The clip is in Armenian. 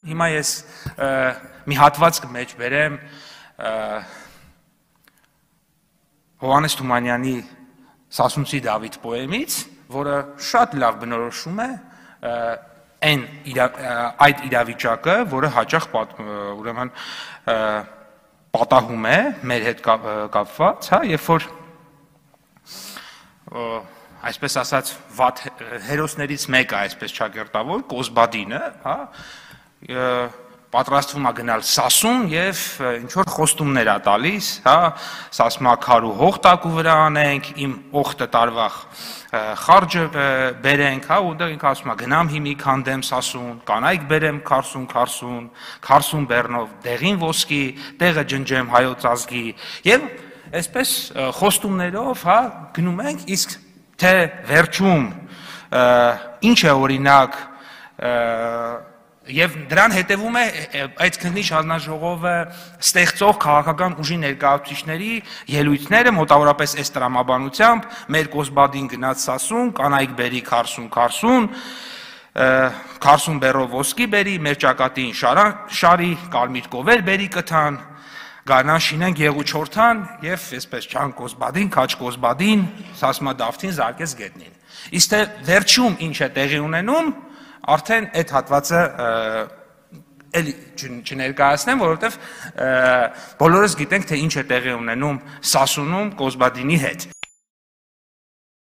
Հիմա ես մի հատված կմեջ բերեմ Հովհաննես Թումանյանի Սասունցի Դավիթ պոեմից, որը շատ լավ բնորոշում է այդ իրավիճակը, որը հաճախ ուրեմն պատահում է մեր հետ կապված, երբ որ այսպես ասած վատ հերոսներից մեկը, այսպես ճակերտավոր, Կոզբադինը, պատրաստվում է գնալ Սասուն եւ ինչ որ խոստումներ է տալիս, Սասմա քարու հող տակու վրա անենք, իմ օխտը տարվա խարջը բերենք, ուտեղ ինքը ասում է գնամ հիմի քանդեմ Սասուն, կանայք բերեմ քարսուն բեռնով, դեղին ոսկի, տեղը ջնջեմ հայոց ազգի եւ այսպես խոստումներով, գնում ենք, իսկ թե վերջում ինչ է օրինակ Եվ դրան հետևում է այդ քննիչ հանձնաժողովը ստեղծող քաղաքական ուժի ներկայացուցիչների ելույթները մոտավորապես այս տրամաբանությամբ մեր Կոզբադին գնաց Սասուն, կանայք բերի քարսուն բեռով ոսկի բերի, մեր ճակատին շարի, կարմիր կովեր բերի կթան, գարնան շինեն գեղու չորթան եւ այսպես չան Կոզբադին, քաչ Կոզբադին, Սասմա Դավթին զարկես գետնին։ Իսկ թե վերջում ինչ է տեղի ունենում, արդեն այդ հատվածը էլի չներկայացնեմ, որովհետև բոլորս գիտենք, թե ինչ է տեղի ունենում Սասունում Կոզբադինի հետ։